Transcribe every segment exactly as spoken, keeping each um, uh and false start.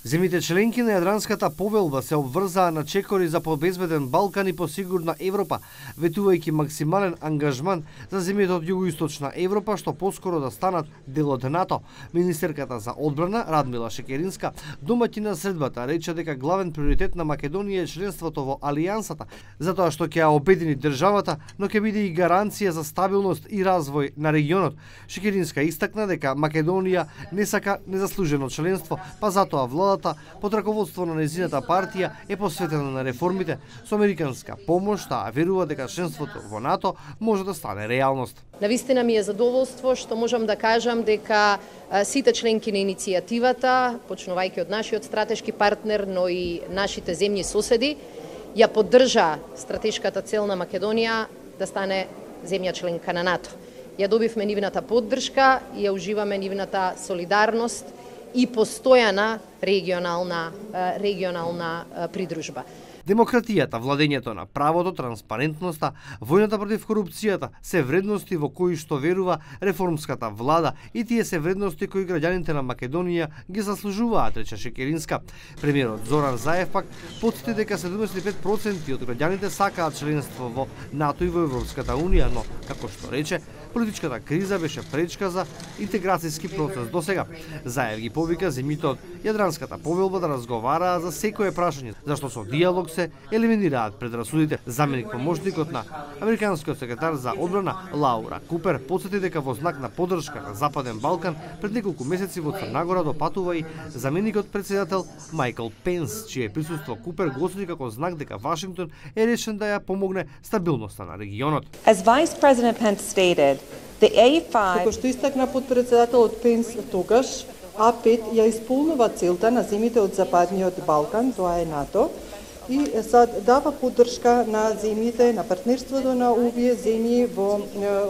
Земјите членки на Јадранската повелба се обврзаа на чекори за побезбеден Балкан и посигурна Европа, ветувајќи максимален ангажман за земјите од југоисточна Европа што поскоро да станат дел од НАТО. Министерката за одбрана Радмила Шекеринска, домаќина на средбата, рече дека главен приоритет на Македонија е членството во Алијансата, затоа што ќе ја обедини државата, но ќе биде и гаранција за стабилност и развој на регионот. Шекеринска истакна дека Македонија не сака незаслужено членство, па затоа владата под раководство на незината партија е посветена на реформите со американска помош, а верува дека членството во НАТО може да стане реалност. Навистина ми е задоволство што можам да кажам дека сите членки на иницијативата, почнувајќи од нашиот стратешки партнер, но и нашите земји соседи, ја поддржа стратешката цел на Македонија да стане земја членка на НАТО. Ја добивме нивната поддршка и ја уживаме нивната солидарност и постојана регионална регионална придружба. Демократијата, владењето на правото, транспарентноста, војната против корупцијата се вредности во кои што верува реформската влада и тие се вредности кои граѓаните на Македонија ги заслужуваат, рече Шекеринска. Премиерот Зоран Заев пак потсети дека седумдесет и пет проценти од граѓаните сакаат членство во НАТО и во Европската унија, но како што рече, политичката криза беше пречка за интеграцијски процес до сега. Заев ги повика земјите од Јадранската повелба да разговараат за секое прашање, зашто со диалог се елиминираат предрасудите. Заменик помошникот на американскиот секретар за одбрана Лаура Купер потсети дека во знак на поддршка на Западен Балкан пред неколку месеци во Црна Гора допатува и заменикот председател Майкл Пенс, чие присуство Купер го осуди како знак дека Вашингтон е решен да ја помогне стабилноста на регионот. As Vice President Pence stated, the A five Како што истакна подпредседателот Пенс тогаш, А пет ја исполнува целта на земјите од Западниот Балкан, тоа е НАТО, и сад дава поддршка на земјите, на партнерството на овие земји во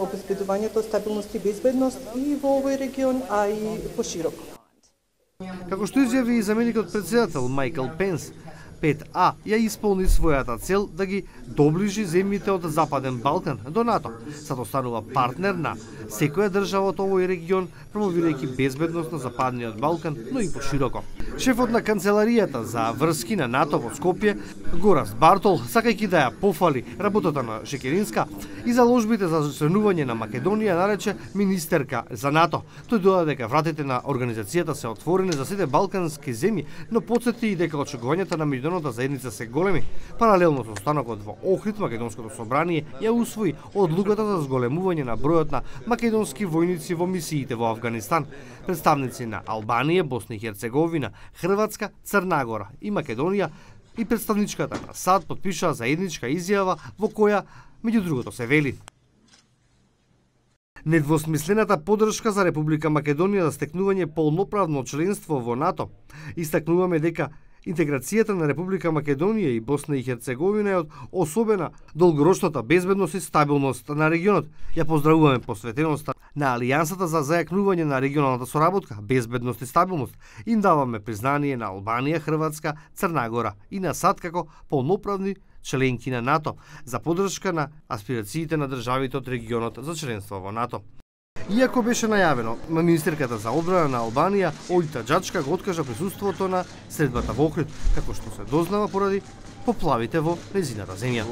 обезбедувањето стабилност и безбедност и во овој регион, а и пошироко. Како што изјави и заменикот председател Майкл Пенс, пет А ја исполни својата цел да ги доближи земјите од Западен Балкан до НАТО, за да останува партнер на секоја држава од овој регион, промовирајќи безбедност на Западниот Балкан, но и пошироко. Шефот на канцеларијата за врски на НАТО во Скопје, Гораст Бартол, сакајќи да ја пофали работата на Шекеринска и заложбите за членување на Македонија, нарече министерка за НАТО. Тој додаде дека вратите на организацијата се отворени за сите балкански земји, но потсети и дека очекувањата на меѓународната заедница се големи. Паралелно со станокот во Охрид, Македонското собрание ја усвои одлуката за зголемување на бројот на македонски војници во мисиите во Авганистан. Представници на Албанија, Босна и Херцеговина, Хрватска, Црна Гора и Македонија и представничката на САД потпишаа заедничка изјава во која, меѓу другото, се вели: недвосмислената поддршка за Република Македонија за стекнување полноправно членство во НАТО. Истакнуваме дека интеграцијата на Република Македонија и Босна и Херцеговина е од особена долгорочната безбедност и стабилност на регионот. Ја поздравуваме посветеноста на Алијансата за зајакнување на регионалната соработка, безбедност и стабилност. Им даваме признание на Албанија, Хрватска, Црна Гора и на САД како полноправни членки на НАТО за поддршка на аспирациите на државите од регионот за членство во НАТО. Иако беше најавено, министерката за одбрана на Албанија, Олита Џачка, го откажа присуството на средбата во Охрид, како што се дознава поради поплавите во незината земја.